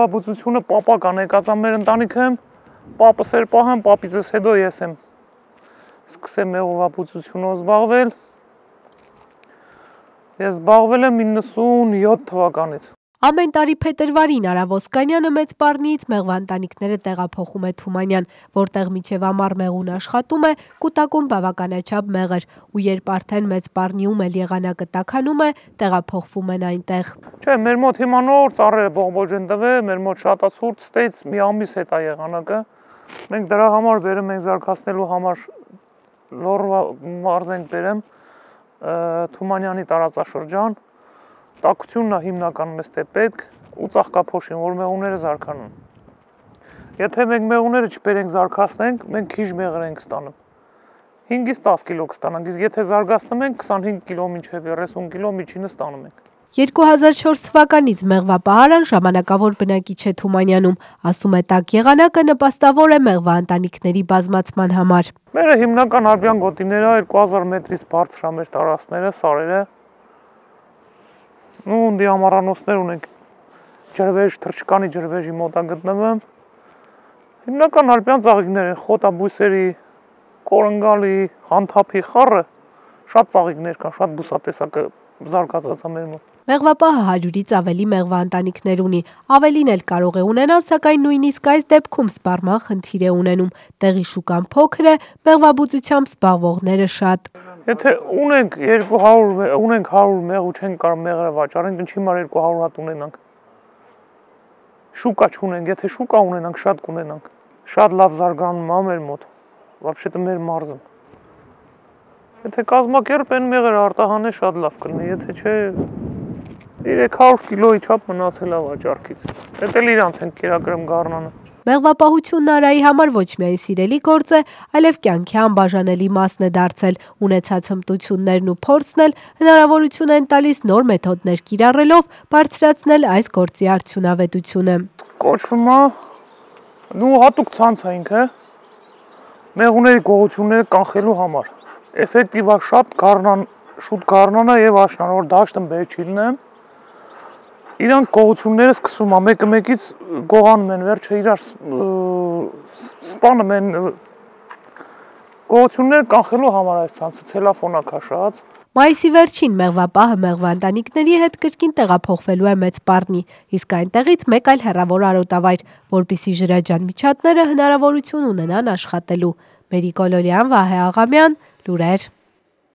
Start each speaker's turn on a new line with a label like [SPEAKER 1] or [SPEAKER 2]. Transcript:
[SPEAKER 1] մեղվաբուծությունը պապական եկած մեր ընտանիքը եմ, պապս էր պահեմ, պապիցս հետո ես եմ սկսեմ մեղվաբուծությունով զբաղվել։ Ես զբաղվել եմ 97 թվականից։
[SPEAKER 2] Ամեն տարի փետրվարին Արա Ոսկանյանը մեծ Պառնիից մեղվաընտանիքները տեղափոխում է Թումանյան, որտեղ մինչև ամառ մեղուն աշխատում է, կուտակում բավականաչափ մեղր, ու երբ արդեն մեծ Պառնիում էլ եղանակը տաքանում է, տեղափոխվում են այնտեղ։
[SPEAKER 1] Չէ, մեր մոտ հիմա նոր ծառերը բողբոջ են տվել, մեր մոտ շատացուրտ ստեյց մի ամիս հետ է եղանակը։ Մենք դրա համար բերում ենք զարգացնելու համար Լոռվա մարզ ենք բերեմ Թումանյանի տարածաշրջան։ Տաքությունն է հիմնականում էստե պետք ու ծաղկափոշին, որ մեղուները զարգանան։ Եթե մենք մեղուները չբերենք զարգացնենք, մենք քիչ մեղր ենք ստանում։ 5-ից 10 կիլո կստանանք, իսկ եթե զարգացնում ենք 25 կիլո մինչև 30 կիլո միջինը ստանում ենք։
[SPEAKER 2] 2004 թվականից մեղվապահարան ժամանակավոր բնակիչ է Թումանյանում, ասում է տաք եղանակը նպաստավոր է մեղվաընտանիքների բազմացման համար։
[SPEAKER 1] Մերը հիմնական արբյան գոտիները 2000 մետրից բարձր է մեր տարածքները, սարերը։ Ունդի ամառանոցներ ունենք ջրվեժ, թռչկանի ջրվեժի մոտ է գտնվում։ Հիմնական արբյան ծաղիկներ են, խոտաբույսերի, կորնգալի, հանթափի, խառը, շատ ծաղիկներ կան, շատ բուսատեսակը զարգացած է մեր մոտ։
[SPEAKER 2] Մեղվապահը 100-ից ավելի մեղվաընտանիքներ ունի, ավելին էլ կարող է ունենալ, սակայն նույնիսկ այս դեպքում սպառման խնդիր է ունենում։ Տեղի շուկան փոքր է, մեղվաբուծությամբ զբաղվողները շատ։
[SPEAKER 1] Եթե ունենք 100 մեղ ու չենք կարող մեղրը վաճառենք, ինչի համար 200 հատ ունենանք։ Շուկա չունենք, եթե շուկա ունենանք, շատ կունենանք։ Շատ լավ զարգանում է մեր մոտ, вообще-то մեր մարզում։ Եթե կազմակերպեն մեղրը արտահանել շատ լավ կլինի, եթե չէ 300 կիլոյի չափ մնացել է վաճառքից։ Դա էլ իրանց են կերակրում գառնանը։
[SPEAKER 2] Մեղվապահությունն Արայի համար ոչ միայն սիրելի գործ է, այլև կյանքի անբաժանելի մասն է դարձել։ Ունեցած հմտություններն ու փորձն էլ հնարավորություն են տալիս նոր մեթոդներ կիրառելով բարձրացնել այս գործի արդյունավետությունը։
[SPEAKER 1] Կոչվում է հատուկ ցանց է ինքը մեղուների գողությունները կանխելու համար։ Էֆեկտիվ է շուտ գառնանա եւ աշնան, որ դաշտը բեր չի լինեմ։ Իրանք գողությունները սկսվում է մեկը մեկից գողանում են, վերջը իրար սպանում են գողությունները կանխելու համար այս ցանցը ցելոֆոնա քաշած։
[SPEAKER 2] Մայիսի վերջին մեղվապահը մեղվաընտանիքների հետ կրկին տեղափոխվելու է մեծ Պառնի, իսկ այնտեղից մեկ այլ հեռավոր արոտավայր, որպեսզի ջրաջան միջատները հնարավորություն ունենան աշխատելու։ Մերի Կոլորյան, Վահե Աղամյան, լուրեր։